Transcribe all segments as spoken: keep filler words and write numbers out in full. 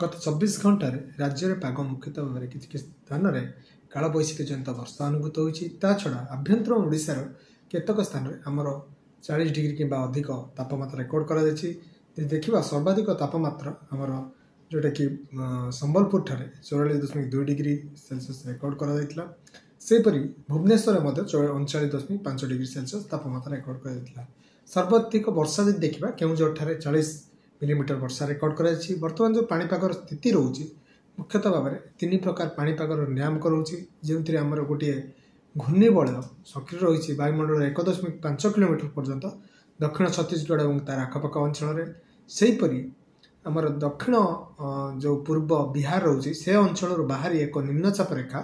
ଗତ ଚବିଶ ଘଣ୍ଟାରେ ରାଜ୍ୟରେ ପାଗ ମୁଖ୍ୟତଃ ଭାବରେ କିଛି କିଛି ସ୍ଥାନରେ କାଳବୈଶାଖୀ ଜନିତ ବର୍ଷା ଅନୁଭୂତ ହୋଇଛି। ତା ଛଡ଼ା ଆଭ୍ୟନ୍ତରୀଣ ଓଡ଼ିଶାର କେତେକ ସ୍ଥାନରେ ଆମର ଚାଳିଶ ଡିଗ୍ରୀ କିମ୍ବା ଅଧିକ ତାପମାତ୍ରା ରେକର୍ଡ଼ କରାଯାଇଛି। ଯଦି ଦେଖିବା, ସର୍ବାଧିକ ତାପମାତ୍ରା ଆମର ଯେଉଁଟାକି ସମ୍ବଲପୁର ଠାରେ ଚଉରାଳିଶ ଦଶମିକ ଦୁଇ ଡିଗ୍ରୀ ସେଲସିୟସ୍ ରେକର୍ଡ଼ କରାଯାଇଥିଲା। ସେହିପରି ଭୁବନେଶ୍ୱରରେ ମଧ୍ୟ ଅଣଚାଳିଶ ଦଶମିକ ପାଞ୍ଚ ଡିଗ୍ରୀ ସେଲସିୟସ୍ ତାପମାତ୍ରା ରେକର୍ଡ଼ କରାଯାଇଥିଲା। ସର୍ବାଧିକ ବର୍ଷା ଯଦି ଦେଖିବା, କେଉଁଝର ଠାରେ ଚାଳିଶ ମିଲିମିଟର ବର୍ଷା ରେକର୍ଡ଼ କରାଯାଇଛି। ବର୍ତ୍ତମାନ ଯେଉଁ ପାଣିପାଗର ସ୍ଥିତି ରହୁଛି, ମୁଖ୍ୟତଃ ଭାବରେ ତିନି ପ୍ରକାର ପାଣିପାଗର ନିୟାମକ ରହୁଛି, ଯେଉଁଥିରେ ଆମର ଗୋଟିଏ ଘୂର୍ଣ୍ଣିବଳୟ ସକ୍ରିୟ ରହିଛି ବାୟୁମଣ୍ଡଳର ଏକ ଦଶମିକ ପାଞ୍ଚ କିଲୋମିଟର ପର୍ଯ୍ୟନ୍ତ ଦକ୍ଷିଣ ଛତିଶଗଡ଼ ଏବଂ ତାର ଆଖପାଖ ଅଞ୍ଚଳରେ। ସେହିପରି ଆମର ଦକ୍ଷିଣ ଯେଉଁ ପୂର୍ବ ବିହାର ରହୁଛି, ସେ ଅଞ୍ଚଳରୁ ବାହାରି ଏକ ନିମ୍ନଚାପ ରେଖା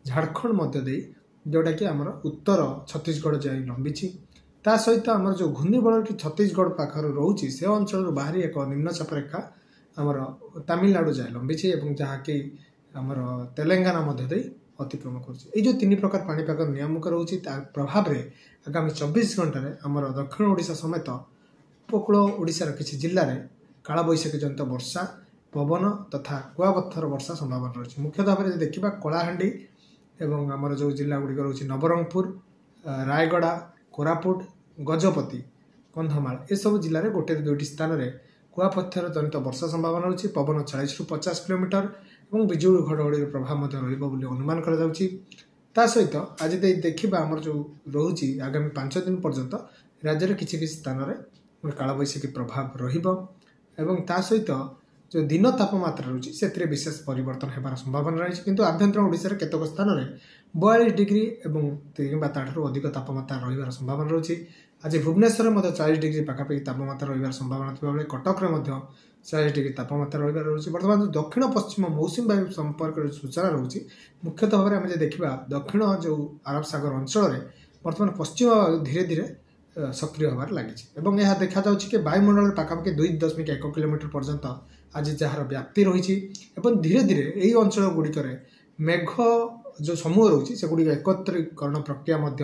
ଝାଡ଼ଖଣ୍ଡ ମଧ୍ୟ ଦେଇ ଯେଉଁଟାକି ଆମର ଉତ୍ତର ଛତିଶଗଡ଼ ଯାଇ ଲମ୍ବିଛି। ତା ସହିତ ଆମର ଯେଉଁ ଘୂର୍ଣ୍ଣିବଳୟଟି ଛତିଶଗଡ଼ ପାଖରେ ରହୁଛି, ସେ ଅଞ୍ଚଳରୁ ବାହାରି ଏକ ନିମ୍ନଚାପ ରେଖା ଆମର ତାମିଲନାଡ଼ୁ ଯାଏ ଲମ୍ବିଛି ଏବଂ ଯାହାକି ଆମର ତେଲେଙ୍ଗାନା ମଧ୍ୟ ଦେଇ ଅତିକ୍ରମ କରୁଛି। ଏଇ ଯେଉଁ ତିନି ପ୍ରକାର ପାଣିପାଗ ନିୟାମକ ରହୁଛି, ତା ପ୍ରଭାବରେ ଆଗାମୀ ଚବିଶ ଘଣ୍ଟାରେ ଆମର ଦକ୍ଷିଣ ଓଡ଼ିଶା ସମେତ ଉପକୂଳ ଓଡ଼ିଶାର କିଛି ଜିଲ୍ଲାରେ କାଳବୈଶାଖୀ ଜନିତ ବର୍ଷା, ପବନ ତଥା କୁଆପଥର ବର୍ଷା ସମ୍ଭାବନା ରହିଛି। ମୁଖ୍ୟତଃ ଭାବରେ ଯଦି ଦେଖିବା, କଳାହାଣ୍ଡି ଏବଂ ଆମର ଯେଉଁ ଜିଲ୍ଲା ଗୁଡ଼ିକ ରହୁଛି ନବରଙ୍ଗପୁର, ରାୟଗଡ଼ା, କୋରାପୁଟ, ଗଜପତି, କନ୍ଧମାଳ, ଏସବୁ ଜିଲ୍ଲାରେ ଗୋଟେ ଦୁଇଟି ସ୍ଥାନରେ କୁଆପଥର ଜନିତ ବର୍ଷା ସମ୍ଭାବନା ରହୁଛି। ପବନ ଚାଳିଶରୁ ପଚାଶ କିଲୋମିଟର ଏବଂ ବିଜୁଳି ଘଡ଼ଘଡ଼ିର ପ୍ରଭାବ ମଧ୍ୟ ରହିବ ବୋଲି ଅନୁମାନ କରାଯାଉଛି। ତା ସହିତ ଆଜି ଦେଇ ଦେଖିବା, ଆମର ଯେଉଁ ରହୁଛି ଆଗାମୀ ପାଞ୍ଚ ଦିନ ପର୍ଯ୍ୟନ୍ତ ରାଜ୍ୟରେ କିଛି କିଛି ସ୍ଥାନରେ କାଳବୈଶାଖୀ ପ୍ରଭାବ ରହିବ ଏବଂ ତା ସହିତ ଯେଉଁ ଦିନ ତାପମାତ୍ରା ରହୁଛି, ସେଥିରେ ବିଶେଷ ପରିବର୍ତ୍ତନ ହେବାର ସମ୍ଭାବନା ରହିଛି। କିନ୍ତୁ ଆଭ୍ୟନ୍ତରୀଣ ଓଡ଼ିଶାର କେତେକ ସ୍ଥାନରେ ବୟାଳିଶ ଡିଗ୍ରୀ ଏବଂ କିମ୍ବା ତାଠାରୁ ଅଧିକ ତାପମାତ୍ରା ରହିବାର ସମ୍ଭାବନା ରହୁଛି। ଆଜି ଭୁବନେଶ୍ୱରରେ ମଧ୍ୟ ଚାଳିଶ ଡିଗ୍ରୀ ପାଖାପାଖି ତାପମାତ୍ରା ରହିବାର ସମ୍ଭାବନା ଥିବାବେଳେ କଟକରେ ମଧ୍ୟ ଚାଳିଶ ଡିଗ୍ରୀ ତାପମାତ୍ରା ରହିବାର ରହୁଛି। ବର୍ତ୍ତମାନ ଦକ୍ଷିଣ ପଶ୍ଚିମ ମୌସୁମୀ ବାୟୁ ସମ୍ପର୍କରେ ସୂଚନା ରହୁଛି, ମୁଖ୍ୟତଃ ଭାବରେ ଆମେ ଯଦି ଦେଖିବା, ଦକ୍ଷିଣ ଯେଉଁ ଆରବ ସାଗର ଅଞ୍ଚଳରେ ବର୍ତ୍ତମାନ ପଶ୍ଚିମ ବାୟୁ ଧୀରେ ଧୀରେ ସକ୍ରିୟ ହେବାରେ ଲାଗିଛି ଏବଂ ଏହା ଦେଖାଯାଉଛି କି ବାୟୁମଣ୍ଡଳରେ ପାଖାପାଖି ଦୁଇ ଦଶମିକ ଏକ କିଲୋମିଟର ପର୍ଯ୍ୟନ୍ତ ଆଜି ଯାହାର ବ୍ୟାପ୍ତି ରହିଛି ଏବଂ ଧୀରେ ଧୀରେ ଏହି ଅଞ୍ଚଳ ଗୁଡ଼ିକରେ ମେଘ ଯେଉଁ ସମୂହ ରହୁଛି, ସେଗୁଡ଼ିକ ଏକତ୍ରୀକରଣ ପ୍ରକ୍ରିୟା ମଧ୍ୟ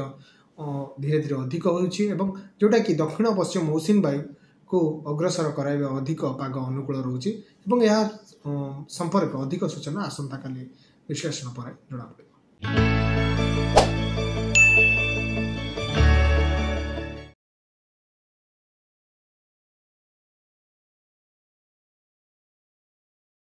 ଧୀରେ ଧୀରେ ଅଧିକ ହେଉଛି ଏବଂ ଯେଉଁଟାକି ଦକ୍ଷିଣ ପଶ୍ଚିମ ମୌସୁମୀ ବାୟୁକୁ ଅଗ୍ରସର କରାଇବା ଅଧିକ ପାଗ ଅନୁକୂଳ ରହୁଛି ଏବଂ ଏହା ସମ୍ପର୍କ ଅଧିକ ସୂଚନା ଆସନ୍ତାକାଲି ବିଶ୍ଳେଷଣ ପରେ ଜଣାପଡ଼ିବ।